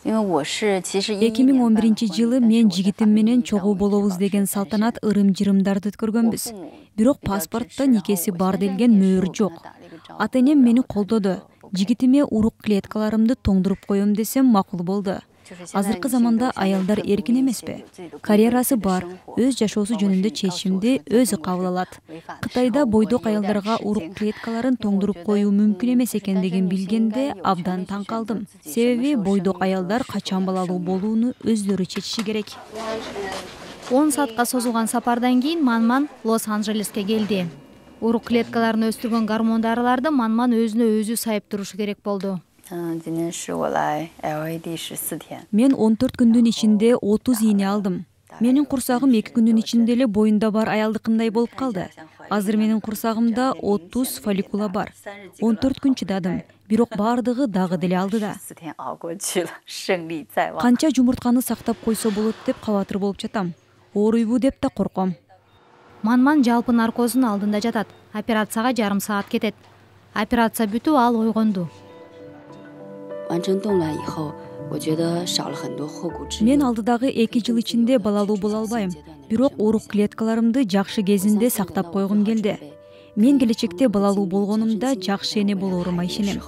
2011-жылы мен жигитим менен чогуу болобуз деген салтанат ырым-жырымдарды өткөргөнбүз. Бирок паспортто никеси бар делген мөөр жок. Ата-энем мени колдоду. Жигитиме урук клеткаларымды тоңдуруп коем десем макул болду. Азыркы заманда аялдар эркин эмеспи? Карьерасы бар, өз жашоосу жөнүндө чечимди өзү кабыл алат. Кытайда бойдок аялдарга урук клеткаларын тоңдуруп коюу мүмкүн эмес экендигин билгенде абдан таң калдым. Себеби бойдок аялдар качан балалуу болууну өздөрү чечиши керек. 10 саатка созулган сапардан кийин Манман Лос-Анджелеске келди. Урук клеткаларын өстүргөн гормон дарыларды Манман өзүнө өзү сайып турушу керек болду. Мен 14 күндүн ичинде 30 ийне алдым. Менин курсагым 2 күндүн ичинде эле боюнда бар аялдыкындай болуп калды. Азыр менин курсагымда 30 фолликула бар. 14 күн чыдадым, бирок бардыгы дагы деле алдыда. Канча жумуртканы сактап койсо болот деп кабатыр болуп жатам. Ооруйбу деп да корком. Манман жалпы наркоздун алдында жатат. Операцияга жарым саат кетет. Операция бүтүп ал ойгонду. Мен алдыдагы 2 жыл ичинде балалуу боло албайм. Бирок урук клеткаларымды жакшы кезинде сактап койгум келди. Мен келечекте балалуу болгонумда жакшы эне болорума ишенем.